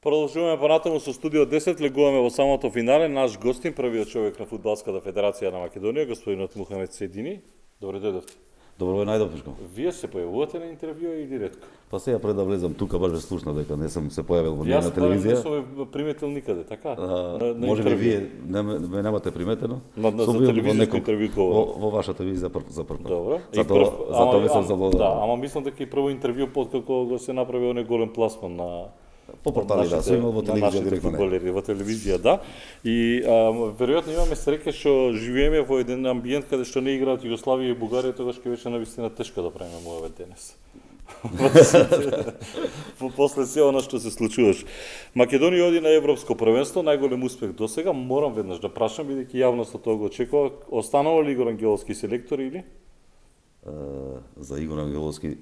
Продолжуваме понатаму со студио 10, легуваме во самото финале. Наш гостин, првиот човек на Фудбалската федерација на Македонија, господинот Мухамед Седини. Добре дојдовте. Добро најдобро. Вие се појавувате на интервју или ретко? Па сега пред да влезам тука баш ве слушна дека не сум се појавил во на телевизија. Јас не сум приметил никаде, така? Може би вие ме немате приметено? За телевизијско интервју во вашата телевизија за прв пат. Добро. Затоа ви сум заблуден. Да, ама мислам дека и прво интервју откако го се направи оној голем пласман на по портали, да, се имал во телевизија директно. Во телевизија, да. И веројатно имаме среќа што живееме во еден амбиент каде што не играат Југославија и Бугарија, тогаш ќе беше навистина тешко да правиме муавет денес. После се она што се случуваш. Македонија оди на европско првенство, најголем успех досега. Морам веднаш да прашам, бидејќи јавноста тоа го очекува, останува ли Игор Ангеловски селектор или? За Игор Ангеловски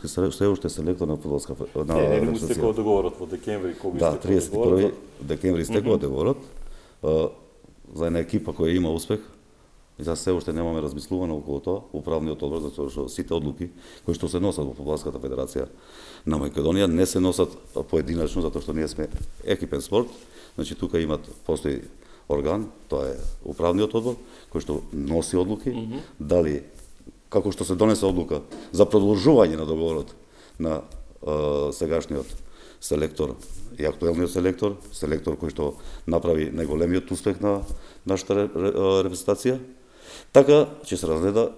се уште селектор на фудбалска на не му стекува договорот во декември, кога да, 31 декември стекува договорот за една екипа која има успех. И за се уште немаме размислувано околу тоа, управниот одбор, затоа што сите одлуки кои што се носат во Фудбалската федерација на Македонија не се носат поединачно, затоа што ние сме екипен спорт. Значи тука постои орган, тоа е управниот одбор кој што носи одлуки, дали како што се донесе одлука за продолжување на договорот на сегашниот селектор и актуелниот селектор кој што направи најголемиот успех на нашата репрезентација. Така ќе се разгледа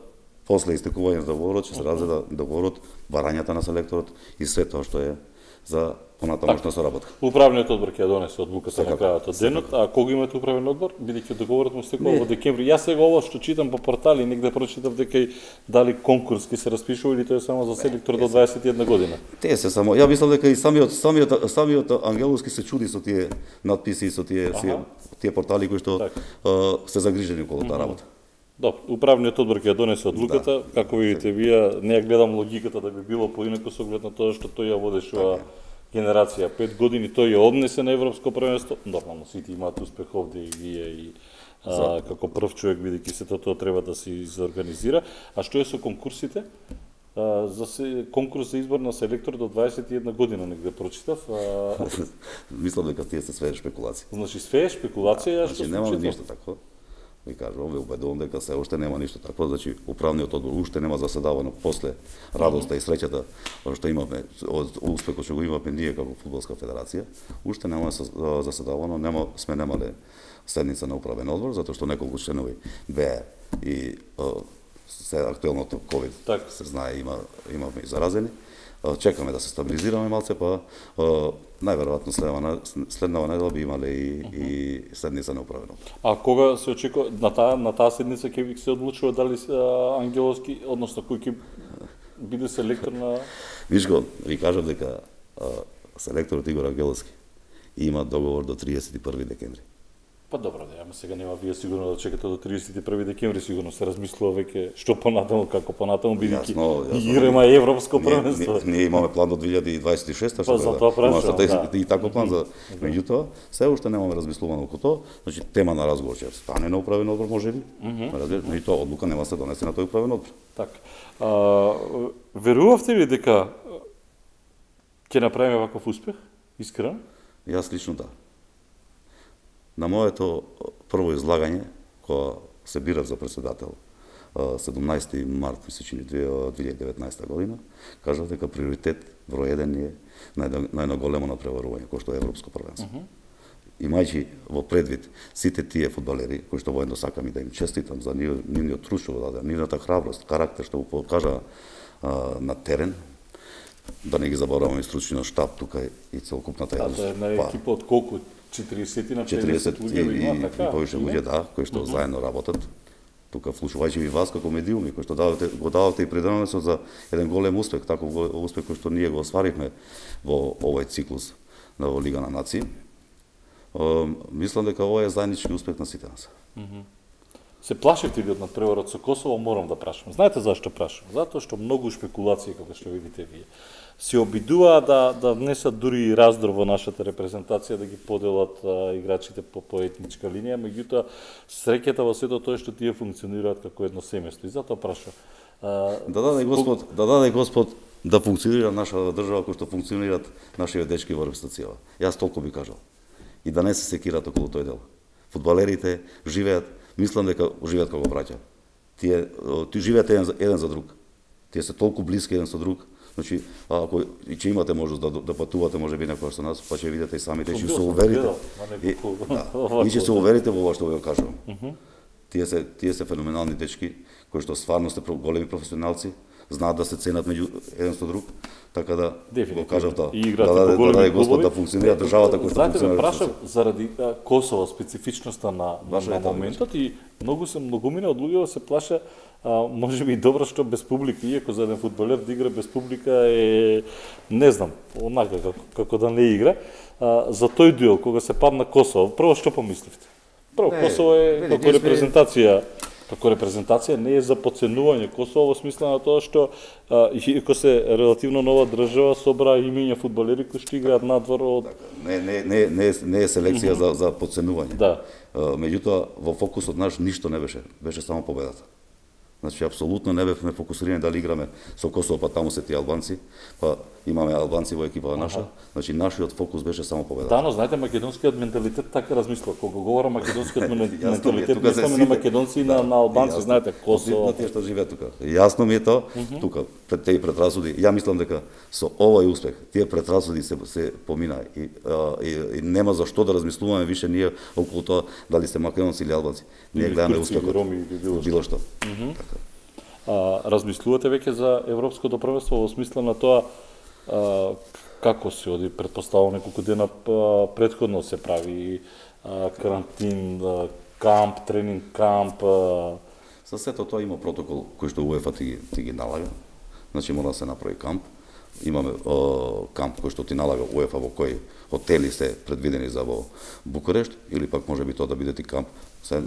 после истекување на договорот, ќе се разгледа договорот, барањата на селекторот и све тоа што е за понатамошна соработка. Управниот одбор ќе донесе одлуката на крајот од денот, а кога имате управен одбор, бидејќи договорот му стекува во декември. Јас сега ова што читам по портали, негде прочитав дека и дали конкурс ќе се распишува или тоа е само за селектор до 21 година. Тие се само, ја мислам дека и самиот Ангеловски се чуди со тие надписи, со тие портали кои што се загрижени околу таа работа. Добро, управниот одбор ќе ја донесе одлуката, како видите вие, не ја гледам логиката да би било поинако со оглед на тоа што тој ја водеше генерација 5 години, тој ја однесе на европско првенство. Нормално сите имаат успех овде и вие и како прв човек, бидејќи се тоа треба да се изорганизира. А што е со конкурсите? Конкурс за избор на селектор до 21 година негде прочитав. Мислам дека тие се све шпекулации. Значи све шпекулација, што нема ништо такво. Ви кажувам, ве убедувам дека се уште нема ништо такво, значи управниот одбор уште нема заседавано после радоста и среќата што имаме од успехот што го имаме ние како фудбалска федерација, уште нема заседавано, сме немале седница на управен одбор затоа што неколку членови беа и се актуелното ковид се знае имаме и заразени. Чекаме да се стабилизираме малце, па најверојатно следнава недела би имале и седница на управен одбор. А кога се очекува на таа седница ќе се одлучува дали Ангеловски, односно кој ќе биде селектор на Вишко, ви кажам дека селекторот Игор Ангеловски има договор до 31 декември. Па добро, да, ама сега нема вие сигурно да чекате до 31 декември, сигурно се размислува веќе што понатаму, како понатаму, бидејќи играме европско првенство. Ние имаме план до 2026, па за тоа прашувам, и таков план за меѓутоа, се уште немаме размислувано околу тоа, значи тема на разговор ќе стане на управен одбор можеби, меѓутоа одлука нема се донесе на тој управен одбор. Така. Верувавте ли дека ќе направиме ваков успех? Искрено? Јас лично да. На моето прво излагање, кога се бирав за председател 17 март, мислечени 2019 година, кажав дека приоритет број 1 е најно големо надпреварување, кој што е европско првенство. Имајќи во предвид сите тие фудбалери, кои што воедно сакам и да им честитам за нивниот трушово, нивната храброст, карактер што го покажа на терен, да не ги забораваме стручниот штаб тука и целокупната јавност. Да, една екипа од колку? 40 на 50 луѓе има, така? И повеќе луѓе, да, кои што заедно работат. Тука вклучувајќи и вас како медиуми, кои што го давате и придонесот за еден голем успех, таков успех кој што ние го остваривме во овој циклус на Лига на нации. Мислам дека ова е заеднички успех на сите нас. Се плашите ли од надпреварот со Косово? Морам да прашам. Знаете зашто прашам? Затоа што многу шпекулации, како што видите вие, се обидуваа да внесат дури и раздор во нашата репрезентација, да ги поделат играчите по етничка линија, меѓутоа среќата во сето тоа што тие функционираат како едно семејство. И затоа прашам. Да даде Господ да функционира нашата држава кој што функционираат нашите дечки во репрезентацијава. Јас толку би кажал. И да не се секираат околу тој дел. Фудбалерите живеат, мислам дека живеат како браќа. Тие живеат еден за друг. Тие се толку блиски еден со друг. Значи, ако и че имате можност да патувате можеби некој со нас, па ќе видите и самите, ќе се уверите. И ќе се уверите во ова што го кажувам. Тие се феноменални дечки кои што стварно се големи професионалци, знаат да се ценат меѓу еден со друг, така да го кажав тоа. Да Господ да функционира државата која што функционира. Знаете, ме прашав заради Косово, специфичноста на моментот и многумина од луѓето се плаша можеби и добро што без публика, иако за еден фудбалер да игра без публика е, не знам, онака како да не игра. За тој дуел, кога се падна Косово, прво што помисливте? Прво, Косово е како репрезентација не е за подценување Косово во смисла на тоа што иако се релативно нова држава собра имиња фудбалери кои што играат надвор од не е селекција за подценување. Да. Меѓутоа во фокусот наш ништо не беше само победата. Значи, апсолутно не бевме фокусирани дали играме со Косово, па таму се тие албанци, па имаме албанци во екипа наша. Значи, нашиот фокус беше само победата. Да, но знаете, македонскиот менталитет така размислува. Кога говорам македонскиот менталитет, мислам на македонци и на албанци, знаете, Косово. На тие што живеат тука. Јасно ми е тоа, тука, пред тие предрасуди. Ја мислам дека со овој успех, тие предрасуди се помина и нема за што да размислуваме више ние околу тоа дали се македонци или албанци. Ние гледаме успехот. Било што. Размислувате веќе за европското првенство во смисла на тоа како се оди, предпоставувам неколку дена претходно се прави карантин, камп, тренинг камп. За сето тоа има протокол кој што УЕФА ти ги налага. Значи мора да се направи камп. Имаме камп кој што ти налага УЕФА во кои хотели се предвидени за во Букурешт или пак може би тоа да биде ти камп.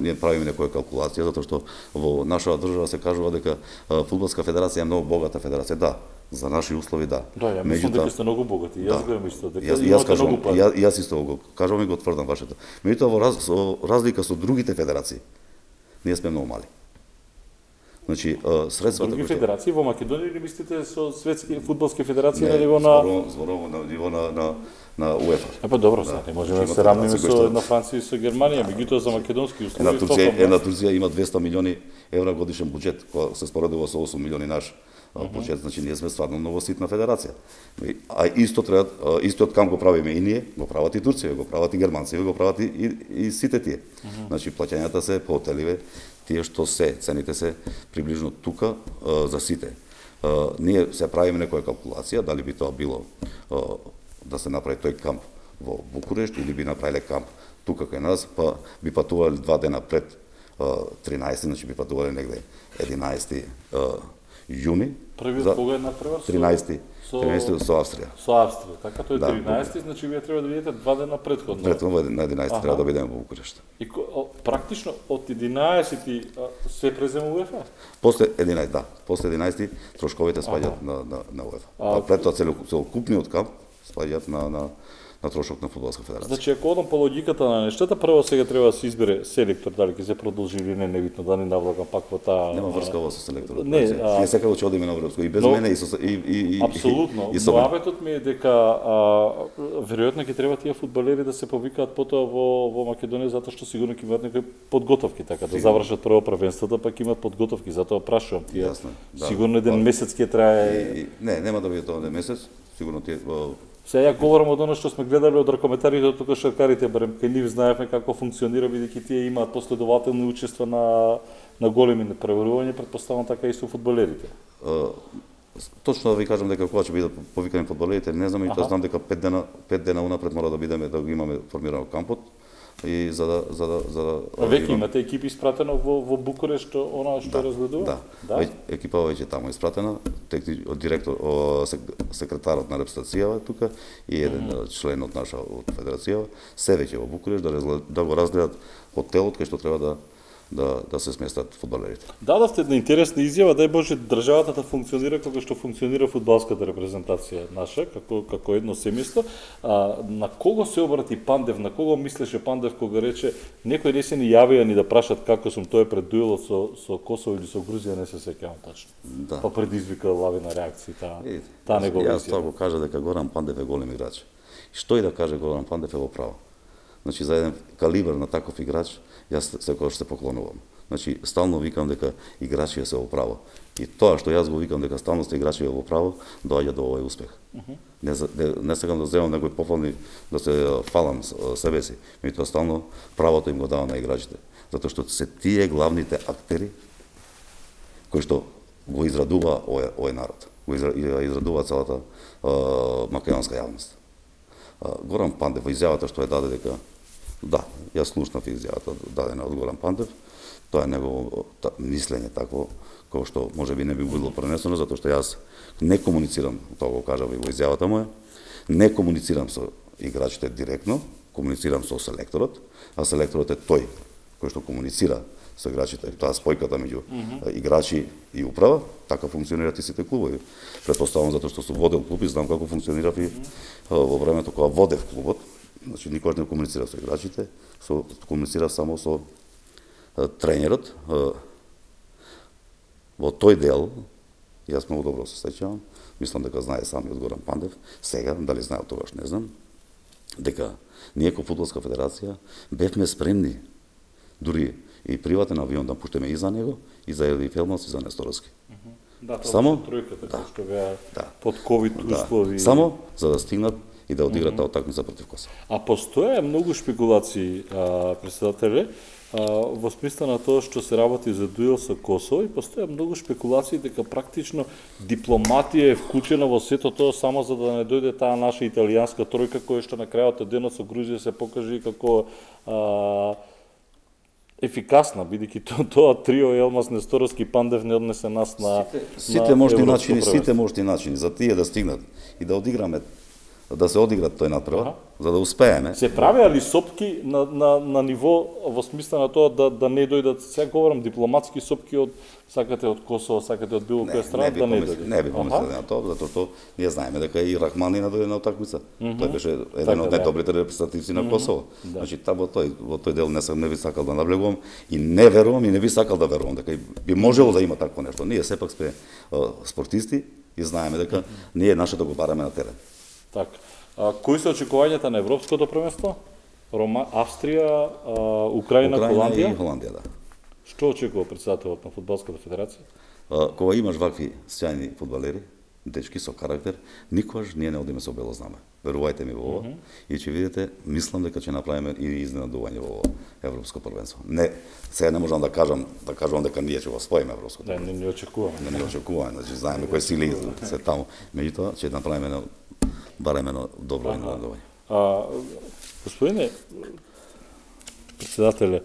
Ние правиме некоја калкулација затоа што во нашата држава се кажува дека фудбалска федерација е многу богата федерација. Да, за наши услови да. Да, ја мислам дека сте многу богати. Јас го мислам дека имате многу пари. Јас исто го кажувам и го тврдам вашето. Меѓутоа во разлика со другите федерации, ние сме многу мали. Значи, средствата други федерации во Македонија или мислите со светски фудбалски федерации на ниво на зборувам на ниво на УЕФА. Па добро, не можеме да се равниме со една Франција и со Германија, меѓутоа за македонски услови една Турција има 200 милиони евра годишен буџет, кој се споредува со 8 милиони наш буџет, значи ние сме стварно многу ситна федерација. А истиот камп го правиме и ние, го прават и Турција, го прават и германци, го прават и сите тие. Значи плаќањата се по хотеливе, тие што цените се приближно тука за сите. Ние се правиме некоја калкулација, дали би тоа било да се направи тој камп во Букурешт или би направиле камп тука кај нас, па би патувале 2 дена пред 13, значи би патувале негде 11 јуни. Првиот кога е натпревар? 13 со Австрија. Со Австрија, така тој 13, значи вие треба да бидете 2 дена претходно. Претходно на 11 треба да бидеме во Букурешт. И практично од 11 се презема УЕФА? После 11, да. После 11 трошковите спаѓаат на УЕФА. Пред тоа целокупниот камп спаѓаат на трошок на фудбалска федерација. Значи, ако одам по логиката на нештата, прво сега треба да се избере селектор, дали ќе се продолжи или не, небитно, да не навлагам пак во таа. Нема врска ова со селекторот. Ние секако ќе одиме на европско и без мене и апсолутно. Моабетот ми е дека веројатно ќе треба тие фудбалери да се повикаат потоа во Македонија затоа што сигурно ќе имаат некои подготовки, така да завршат прво првенството, пак имаат подготовки, затоа прашувам тие. Сигурно еден месец ќе трае. Не, нема да биде тоа еден месец, сигурно тие. Сега ја говорам од оно што сме гледале од ракометарите, тука шаркарите, барем кај нив знаевме како функционира, бидејќи тие имаат последователни учества на големи преварувања, претпоставам така и со фудбалерите. Точно да ви кажам дека кога ќе бидат повикани фудбалерите, не знам, и тоа знам дека 5 дена унапред мора да бидеме да го имаме формирано кампот. И за да веќе имате екипи испратено во Букурешт она што разгледува? Да. Екипа веќе таму испратена, директор, секретарот на репрезентацијава тука и еден член од наша од федерацијава, се веќе во Букурешт да го разгледат хотелот кај што треба да се сместат фудбалерите. Дадовте една интересна изјава, дај Боже државата да функционира како што функционира фудбалската репрезентација наша, како едно семејство. На кого се обрати Пандев, на кого мислеше Пандев кога рече некои не се ни јавија ни да прашат како сум, тој пред дуелот со Косово или со Грузија, не се сеќавам тачно. Да. Па предизвика лавина реакции таа негова изјава. Јас тоа го кажа дека Горан Пандев е голем играч. Што и да каже Горан Пандев е во право. Значи за еден калибар на таков играч јас секогаш се поклонувам. Значи стално викам дека играчи се во право. И тоа што јас го викам дека стално сте играчи во право, доаѓа до овој успех. Не сакам да земам некои пофални да се фалам себе си, меѓутоа стално правото им го дава на играчите, затоа што се тие главните актери кои што го израдува овој народ, го израдува целата македонска јавност. Горан Пандев во изјавата што даде дека да, јас слушнав изјавата дадена од Горан Пандев, тоа е негово мислење такво, кој што можеби не би било пренесено, затоа што јас не комуницирам, тоа го кажав и во изјавата моја, не комуницирам со играчите директно, комуницирам со селекторот, а селекторот е тој кој што комуницира со играчите, таа спојката меѓу играчи и управа, така функционираат и сите клубови. Претпоставувам затоа што сум водел клуб и знам како функционирав и во времето кога водев клубот, значи никогаш не комуницирав со играчите, комуницирав само со тренерот. Во тој дел, јас многу добро се сеќавам, мислам дека знае самиот Горан Пандев, сега, дали знае тогаш не знам, дека ние како фудбалска федерација бевме спремни, дури и приватен авион да пуштеме и за него, и за Ели Фелманс, и за Несторовски. Да, тоа само тројката, што беа под ковид услови. Само за да стигнат и да одиграат таа утакмица против Косово. А постоја многу шпекулации, претседателе, во смисла на тоа што се работи за дуел со Косово, и постоја многу шпекулации дека практично дипломатија е вклучена во сето тоа само за да не дојде таа наша италијанска тројка која што на крајот од денот со Грузија се покажи како ефикасна, бидејќи тоа трио Елмаз, Несторовски, Пандев не однесе нас на сите можни начини за тие да стигнат и да одиграме, да се одиграат тој надпревар, за да успееме. Се правеа ли сопки на ниво во смисла на тоа да не дојдат, сега говорам дипломатски сопки од сакате од Косово, сакате од било која страна да не дојде. Не би помислил на тоа, затоа што ние знаеме дека и Рахмани дојде на утакмица. Тој беше еден од најдобрите репрезентативци на Косово. Значи во тој дел не би сакал да наблегувам и не верувам и не би сакал да верувам дека би можело да има такво нешто. Ние сепак сме спортисти и знаеме дека ние нашето го бараме на терен. Така. Кои се очекувањата на европското првенство? Австрија, Украина, Холандија? И Холандија, да. Што очекува претседателот на фудбалската федерација? Кога имаш вакви сјајни фудбалери, дечки со карактер, никогаш ние не одиме со бело знаме. Верувајте ми во ова и ќе видите, мислам дека ќе направиме и изненадување во европско првенство. Не, сега не можам да кажам дека ние ќе го освоиме европското. Не, не очекуваме. Не очекуваме, значи знаеме кои сили се таму. Меѓутоа ќе направиме барем едно добро изненадување. Господине претседателе,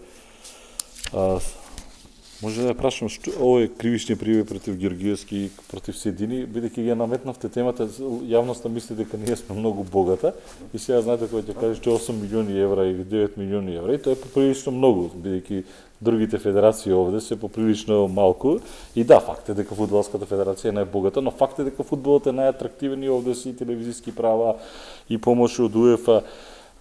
може да ја прашам што овој кривични пријави против Ѓорѓиевски, против Седини, бидејќи ја наметнавте темата, јавноста мисли дека ние сме многу богата и сега знаете кој ќе каже што 8 милиони евра или 9 милиони евра, и тоа е поприлично многу, бидејќи другите федерации овде се поприлично малку. И да, факт е дека фудбалската федерација е најбогата, но факт е дека фудбалот е најатрактивен и овде си телевизиски права и помош од УЕФА.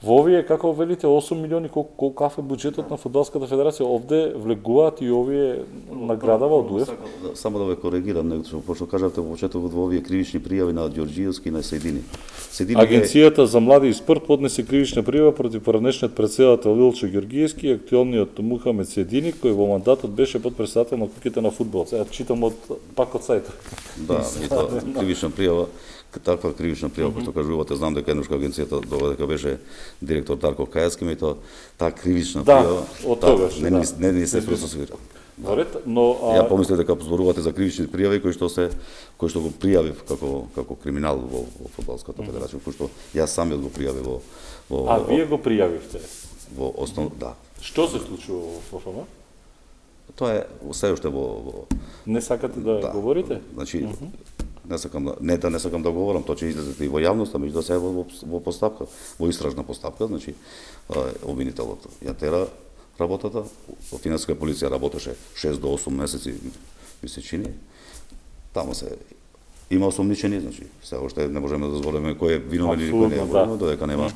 Во овие, како велите, 8 милиони, колкав е буџетот на фудбалската федерација, овде влегуваат и овие наградава од УЕФА? Само да ве коригирам, пошто кажавте во почетокот во овие кривични пријави на Ѓорѓиевски и на Седини. Агенцијата за млади и спорт поднесе кривична пријава против поранешниот претседател Илчо Ѓорѓиевски и актуелниот Мухамед Седини, кој во мандатот беше подпредседател на куќите на фудбал. Сега читам пак од сајтот. Да, и тоа кривична пријава, таква кривична пријава, кој што кажувате, знам дека еднаш агенцијата додека беше директор Дарко Кајаски, меѓутоа таа кривична пријава од тогаш не се процесуира. Но ја помислев дека зборувате за кривични пријави кои што го пријавив како криминал во фудбалската федерација, кој што јас самиот го пријавив во А вие го пријавивте? Во основ, да. Што се случува во ФФМ? Тоа е се уште во Не сакате да говорите? Значи не сакам да говорам, тоа ќе излезе и во јавноста, меѓутоа се во постапка, во истражна постапка, значи обвинителот ја тера работата. Финанска полиција работеше 6 до 8 месеци, ми се чини. Таму се има осомничени, значи се уште не можеме да збориме кој е виновен или кој не е виновен, додека нема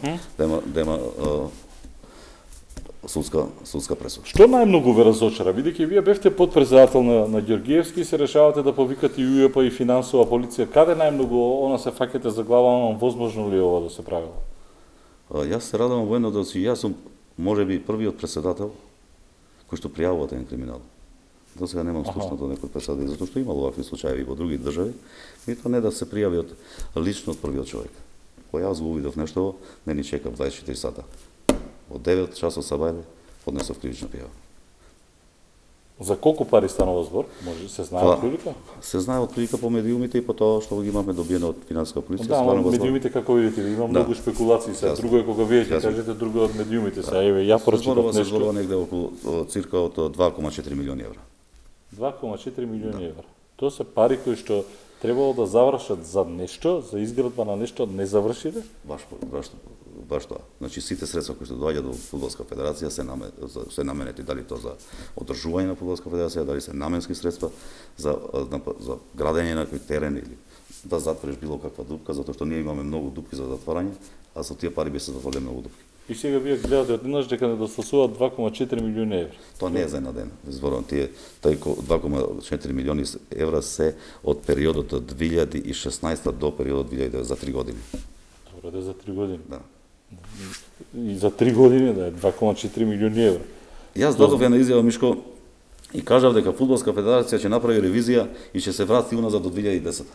судска пресуда. Што најмногу ве разочара, бидејќи вие бевте подпредседател на Ѓоргиевски и се решавате да повикате и УЕПА и финансова полиција, каде најмногу она се фаќате за глава, возможно ли ова да се правило? Јас се радувам воено да си, јас сум можеби првиот председател кој што пријавува таен криминал. До сега немам слушнато некој председател, затоа што имало вакви случаи во други држави, и тоа не да се пријави лично од првиот човек. Кога јас го увидов нешто, не ни чекав 24 сата. Од 9 часот сабајле поднесов кривична пријава. За колку пари станува збор? Може се знае отприлика? Се знае отприлика по медиумите и по тоа што ги имаме добиено од финансиска полиција. Да, медиумите како видите, има многу спекулации се. Друго е кога вие ќе кажете, друго од медиумите се. Еве, ја прочитав нешто. Зборува негде околу цирка од 2,4 милиони евра. 2,4 милиони евра. Тоа се пари кои што требало да завршат за нешто, за изградба на нешто, не завршиле? Баш тоа. Значи сите средства кои што доаѓаат од Фудбалска федерација се наменети, дали тоа за одржување на Фудбалска федерација, дали се наменски средства за градење на некој терен или да затвориш било каква дупка, затоа што ние имаме многу дупки за затворање, а со тие пари би се затвориле многу дупки. И сега вие гледате однаш дека недостасуваат 2,4 милиони евра. Тоа не е за една ден. Зборувам тие 2,4 милиони евра се од периодот од 2016 до периодот 2009 за 3 години. Добре, за 3 години. Да. И за 3 години да е 2,4 милиони евра. Јас дадов една изјава, Мишко, и кажав дека Фудбалска федерација ќе направи ревизија и ќе се врати уназад до 2010.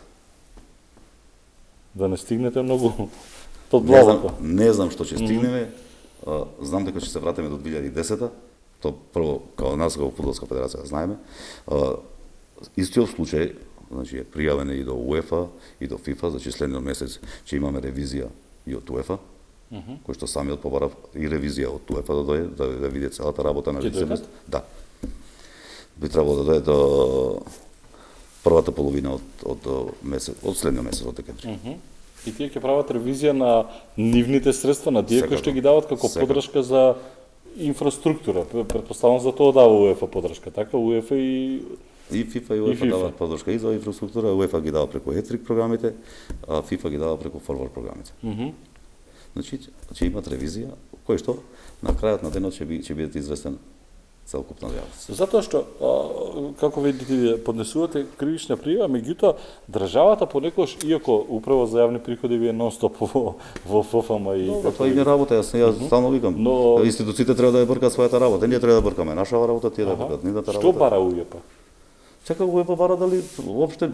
Да не стигнете многу под главата. Не знам што ќе стигнеме. Знам дека ќе се вратиме до 2010. То прво као нас како Фудбалска федерација знаеме. Истиот случај, значи е пријавен и до УЕФА и до ФИФА, значи следниот месец ќе имаме ревизија и од УЕФА, кој што самиот побара и ревизија од УЕФА да дојде, да види целата работа на лице место. Да. Би требало да дојде до првата половина од следниот месец од декември. И тие ќе прават ревизија на нивните средства, на тие кои што ги дават како поддршка за инфраструктура. Претпоставам за тоа дава УЕФА поддршка, така УЕФА и ФИФА и УЕФА даваат поддршка и за инфраструктура, УЕФА ги дава преку Етрик програмите, а ФИФА ги дава преку форвард програмите. Значи, ќе имат ревизија, кој што на крајот на денот ќе биде известен целокупна јавност. Затоа што, како видите, поднесувате кривична пријава, меѓутоа, државата понекогаш, иако управа за јавни приходи ви е нон-стоп во ФФМ и... Тоа и не работа, јас стално викам. Институциите треба да ја бркаат својата работа, ние треба да бркаме нашава работа, тие да бркаат нивната работа. Што бара УЕПА? Чека УЕПА бара дали воопште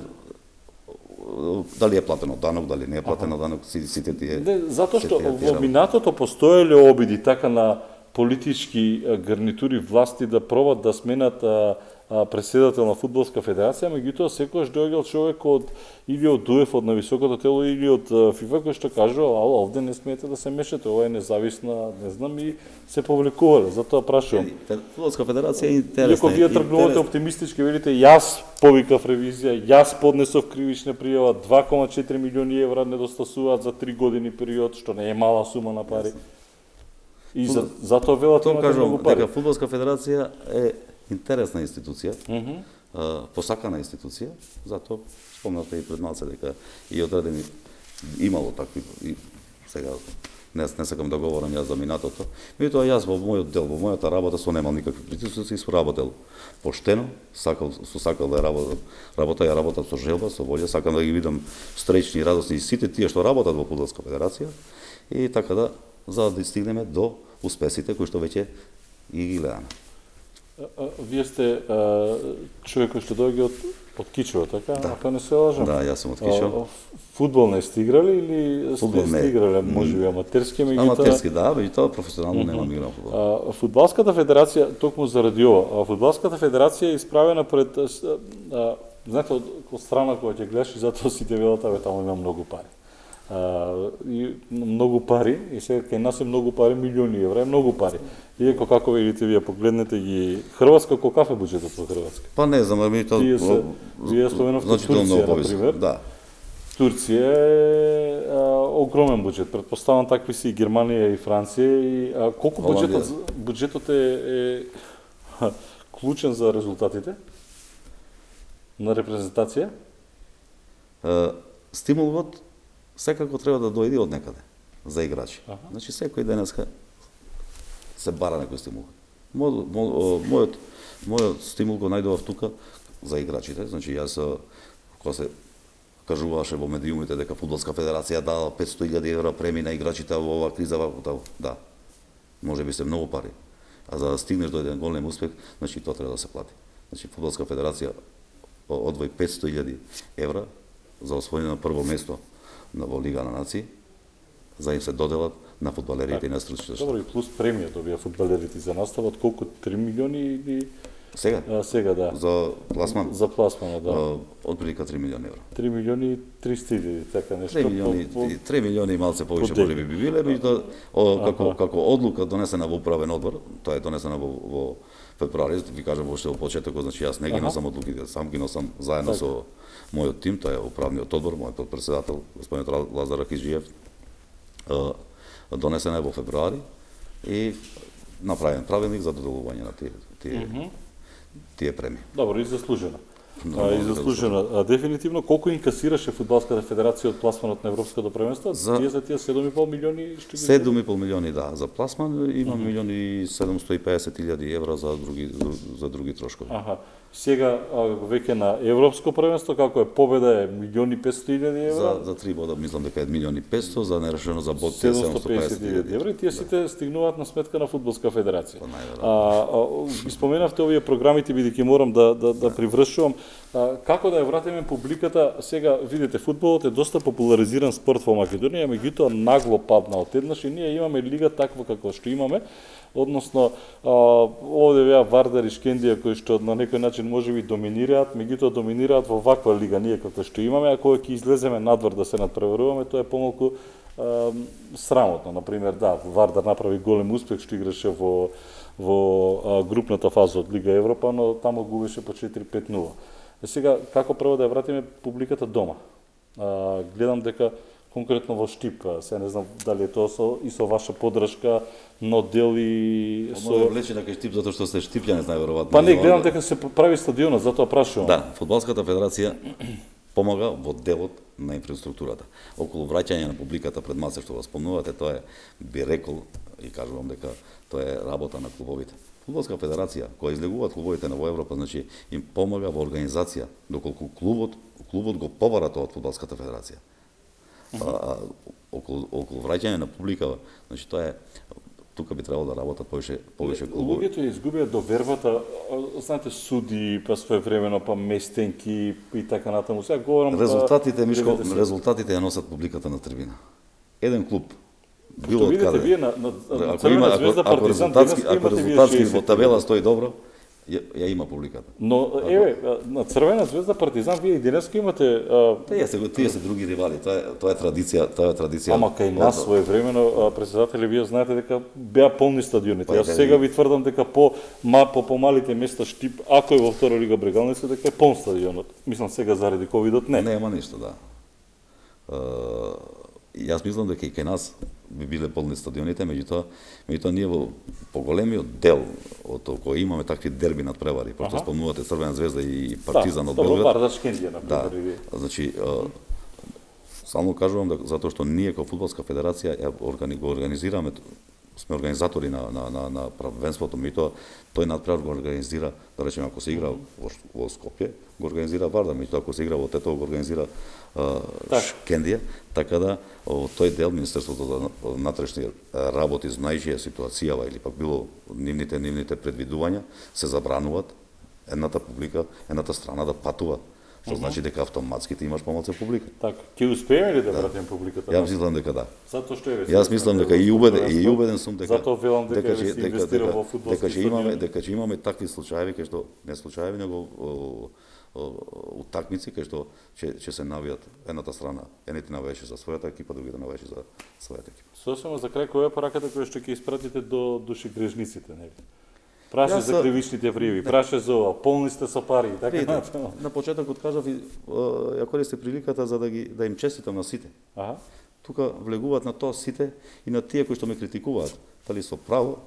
дали е платено данок, дали не е платено данок, сите тие. Затоа што во минатото постоеле обиди така на политички гарнитури власти да пробат да сменат председател на Фудбалска федерација, меѓутоа секогаш доаѓал човек или од УЕФА, од нависокото тело, или од ФИФА, кој што кажува, овде не смеете да се мешате, ова е независна, не знам, и се повлекувале. Затоа прашувам. Фудбалска федерација е интересна. Иако вие тргнувате оптимистички, велите, јас повикав ревизија, јас поднесов кривична пријава, 2,4 милиони евра недостасуваат за 3 години период, што не е мала сума на пари. И затоа велате имате многу пари. Дека Фудбалска федерација е интересна институција, посакана институција, затоа спомнате и пред малце дека и одредени имало такви, и сега не сакам да говорам јас за минатото, меѓутоа јас во мојот дел, во мојата работа со немал никакви притисоци и соработел поштено, сакал да работам со желба, со волја, сакам да ги видам среќни и радосни и сите тие што работат во Фудбалска федерација и така да за да стигнеме до успесите кои што веќе и ги гледаме. Вие сте човек кој што доаѓа од Кичево, така? Ако не се лажам. Да, јас сум од Кичево. Фудбал не сте играли или сте играли, можеби аматерски, меѓутоа? Аматерски, да, меѓутоа професионално немам играл фудбал. Фудбалската федерација, токму заради ова, Фудбалската федерација е исправена пред, знаете, од страна која ќе гледаш и затоа сите велат, таму има многу пари. И многу пари, и сега кај нас е многу пари, милиони евра, е многу пари. Иако како видите вие погледнете ги Хрватска, колкав е буџетот во Хрватска? Па не знам, вие споменавте Турција, например. Да. Турција е огромен буџет. Претпоставам такви си и Германија и Франција и колку буџетот е клучен за резултатите на репрезентација? Стимулот секако треба да дојде од некаде за играчи. Значи секој денеска се бара некој стимул. Мојот стимул го најдовав тука за играчите. Значи јас кога се кажуваше во медиумите дека Фудбалска федерација дала 500.000 евра премии на играчите во оваа криза, да. Може би се многу пари. А за да стигнеш до еден голем успех, значи тоа треба да се плати. Значи Фудбалска федерација одвои 500.000 евра за освојување на прво место во Лига на нации, за им се доделат на фудбалерите и на стручните. Добро, и плюс премија добија фудбалерите за наставот, колку 3 милиони или сега? Сега, да. За пласман? За пласман, да. Од прилика 3 милиони евра. 3 милиони 300.000, така нешто. 3 милиони и малце повеќе може би биле, меѓутоа како одлука донесена во управен одбор, тоа е донесена во февруари, ви кажам уште во почетокот, значи јас не ги носам одлуките, сам ги носам заедно со мојот тим, тоа е управниот одбор, мојот подпредседател господин Лазар Акиџиев, донесена е во февруари и направен правилник за доделување на тие премии. Добро, и заслужено. И заслужено. Дефинитивно, колку инкасираше Фудбалската федерација од пласманот на Европското првенство? Тие за тие 7,5 милиони што ги 7,5 милиони, да, за пласман, има 1.750.000 евра за други трошкови. Сега веќе на Европско првенство, како е победа е 1.500.000 евра. За 3 бода мислам дека е 1.500.000, за нерешено за бод 750.000 евра. И тие сите стигнуваат на сметка на Фудбалска федерација. Ги споменавте овие програмите, бидејќи морам да привршувам. Како да ја вратиме публиката? Сега видите, фудбалот е доста популаризиран спорт во Македонија, меѓутоа нагло падна одеднаш и ние имаме лига таква како што имаме. Односно, овде беа Вардар и Шкендија кои што на некој начин можеби доминираат, меѓутоа доминираат во ваква лига ние како што имаме, а кога ќе излеземе надвор да се надпреваруваме, тоа е помалку срамотно. Например, да, Вардар направи голем успех што играше во групната фаза од Лига Европа, но тамо губеше по 4-5-0. Сега, како прво да ја вратиме публиката дома? Гледам дека конкретно во Штип, се не знам дали е тоа со ваша поддршка, но дели со влече дека Штип затоа што сте штипјани, најверојатно. Па не, гледам дека се прави стадионот, затоа прашувам. Да, Фудбалската федерација помага во делот на инфраструктурата. Околу враќање на публиката пред маце што го спомнувате, тоа е, би рекол и кажувам дека тоа е работа на клубовите. Фудбалска федерација, кога излегуваат клубовите во Европа, значи им помага во организација, доколку клубот го побара тоа од Фудбалската федерација. Околу враќање на публика, значи тоа е, тука би требало да работат повеќе клубови. Луѓето ја изгубија довербата, знаете, суди, па своевремено, па местенки и така натаму. Сега говорам резултатите, Мишко, резултатите ја носат публиката на трибина. Еден клуб било од каде. Вие на Црвена звезда, Партизан, ако резултатски во табела стои добро, ја има публиката. Но еве, на Црвена звезда, Партизан, вие и денеска имате тие се други ривали, тоа е традиција, Ама кај нас своевремено претседатели, вие знаете дека беа полни стадионите. Јас сега ви тврдам дека по помалите места Штип, ако е во втора лига Брегалница, дека е полн стадионот. Мислам сега заради ковидот не. Нема ништо, да. Јас мислам дека и кај нас би биле полни стадионите, меѓутоа ние во поголемиот дел од кој имаме такви дерби надпревари, пошто спомнувате Црвена звезда и Партизан од Белград. Да, Вардар Шкендија на пример. Да, значи само кажувам дека затоа што ние како фудбалска федерација го организираме, сме организатори на првенството, меѓутоа тој надпревар го организира, да речеме ако се игра во Скопје, го организира Вардар, меѓутоа ако се игра во Тетово го организира Шкендија, така да тој дел Министерството за внатрешни работи, знаејќи ситуацијава или пак било нивните предвидувања, се забрануваат едната публика, едната страна да патува, што значи дека автоматски ти имаш помалку публика. Така, ќе успееме ли да вратиме публиката? Јас мислам дека да. Затоа што е Јас мислам дека и убеден сум дека затоа велам дека се инвестира во фудбалски стадион. Дека ќе имаме такви случаи, кај што не случаи, него утакмици кај што ќе се навијат едната страна, едните навијаше за својата екипа, другите навијаше за својата екипа. Сосема за крај, која е пораката која што ќе испратите до душегрежниците, нели? Праше за кривичните пријави, праше за ова, полни сте со пари и така натаму. На почетокот кажав, ја користам приликата за да им честитам на сите. тука влегуваат на тоа сите и на тие кои што ме критикуваат, дали со право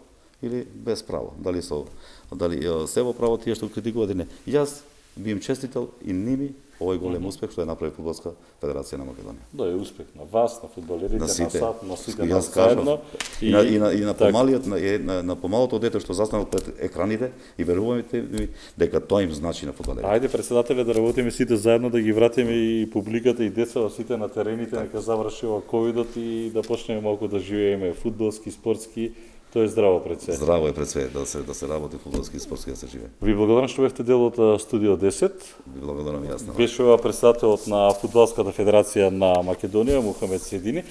или без право, дали се во право тие што критикуваат или не. Јас би им честитал и ними овој голем успех што е направи Фудбалска федерација на Македонија. Да, е успех на вас, на фудбалерите, на САД, на сите нас заедно. И на помалиот, на помалото дете што застанал пред екраните и верувате ми дека тоа им значи на фудбалерите. Ајде председателе да работиме сите заедно, да ги вратиме и публиката и децата сите на терените, нека заврши ова ковидот и да почнеме малку да живееме фудбалски, спортски. Тоа е здраво пред се. Здраво е пред се да се работи фудбалски и спортски да се живее. Ви благодарам што бевте дел од Студио 10. Ви благодарам јас. Беше ова председателот на Фудбалската федерација на Македонија, Мухамед Седини.